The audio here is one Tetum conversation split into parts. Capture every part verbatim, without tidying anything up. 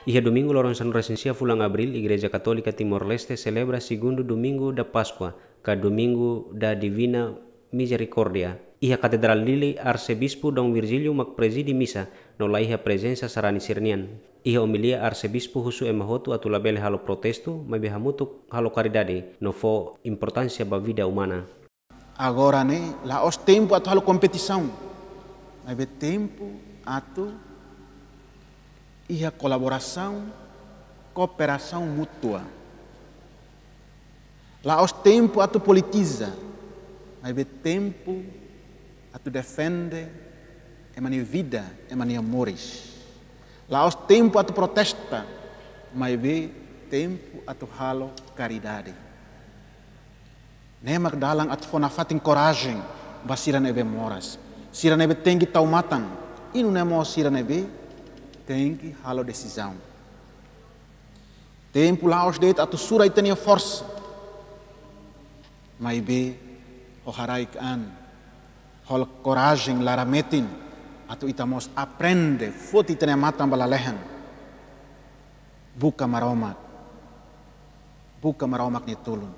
Iha domingu loron sanulu-resin-sia fulan Abríl, Igreja Katólika Timor-Leste selebra segundu domingu da Páskua, ka Domingu da Divina Mizerikórdia. Iha Katedrál Dili, Arsebispu Dom Virgílio mak prezide misa, no laiha prezensa sarani sira-nian. Iha omilia, Arsebispu husu ema hotu atu labele halo protestu, maibé hamutuk halo karidade, no fó importánsia ba vida umana. Agora ne'e, la'ós tempu atu halo kompetisaun, maibé tempu atu iha kolaborasaun, kooperasaun mútua. La'ós tempu atu politiza, maibé tempu atu defende ema nia vida, ema nia moris. La'ós tempu atu protesta, maibé tempu atu halo karidade. Ne'e mak dalan atu fó nafatin korajen ba sira ne'ebé moras. Sira ne'ebé tenke tau matan, i nune'e mós sira ne'ebé tenke halo desizaun. Tempu la'ós de'it atu sura ita-nia forsa, maibé ho haraik an, ho korajen laran-metin, atu ita mós aprende, foti ita-nia matan ba lalehan. Buka Maromak. Buka Maromak nia tulun.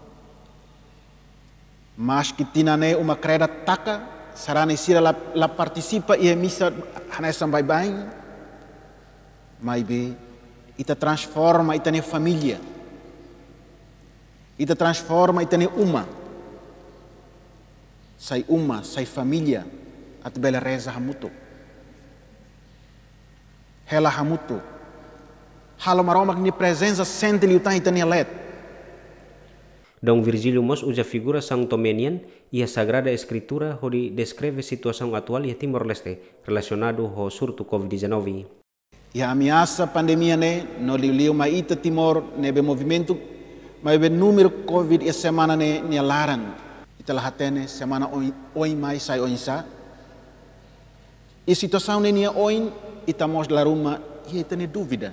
Maski tinan ne'e uma kreda taka, sarani sira la, la partisipa iha misa hanesan baibain, maibé ita transforma ita-nia família. Ita transforma ita-nia uma. Sai uma, sai família, atu bele reza hamutuk. Hela hamutuk. Halo Maromak nia prezensa sente liután ita-nia leet. Dom Virgílio mós uza figura São Tomé nian iha Sagrada Eskritura hodi deskreve situasaun atuál iha Timor-Leste relasionadu ho surtu covid dezanove. Iha ameasa pandemia ne'e, no liuliu mai ita Timor ne'ebé movimentu, maibé númeru covid iha semana ne'e nia laran. Ita la hatene semana oin, oin mai sai oinsá. I situasaun ne'e nia oin, ita mós dala ruma iha ita-nia dúvida,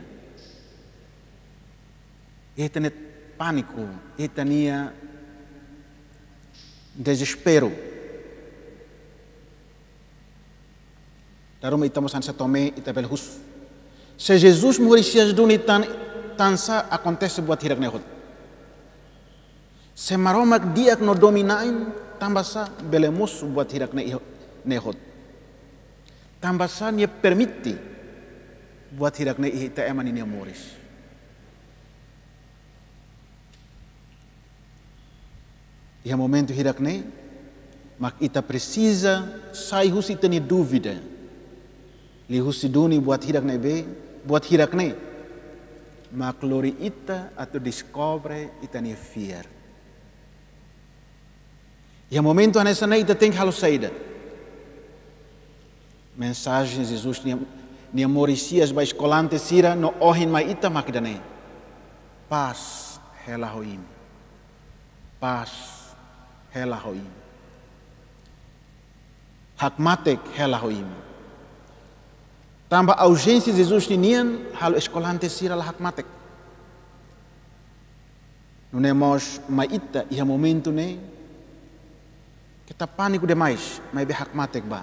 iha ita-nia pániku, iha ita-nia dezesperu. Dala ruma ita mós hanesan Tomé, ita bele husu: Se Jesus Murias duni tan, tansá akontese buat hirak ne'e hotu? Se Maromak di'ak no domin-na'in, tanbasá bele mosu buat hirak ne'e, ne'e hotu? Tanbasá nia permite buat hirak ne'e iha ita ema ninia moris? Iha momentu hirak ne'e mak ita presiza sai husi ita-nia dúvida, liuhusi duni buat hirak ne'ebé, buat hirak ne'e mak lori ita atu deskobre ita-nia fiar. Iha momentu hanesan ne'e ita tenke halo saida? Mensajen Jesus nia, nia moris-hi'as ba eskolante sira no ohin mai ita mak ida-ne'e: Pás hela ho imi. Pás hela ho imi. Hakmatek hela ho imi. Tanba auzénsia Jesus ninian halo eskolante sira la hakmatek. Nune'e mós mai ita iha momentu ne'e, keta pániku demais, maibé hakmatek bá.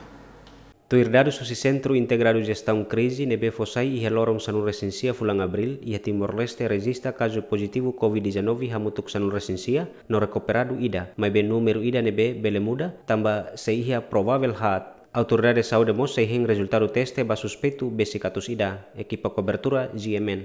Tuir dadus husi Sentru Integradu Jestaun Krize ne'ebé fó sai iha loron sanulu-resin-sia fulan Abríl, iha Timor-Leste rejista kazu pozitivu covid dezanove hamutuk sanulu-resin-sia, no rekuperadu ida, maibé númeru ida ne'ebé bele muda, tanba sei iha provavel haat. Autoridade Saúde mós sei hein rezultadu teste ba suspeitu besik atus ida. Ekipa kobertura G M N.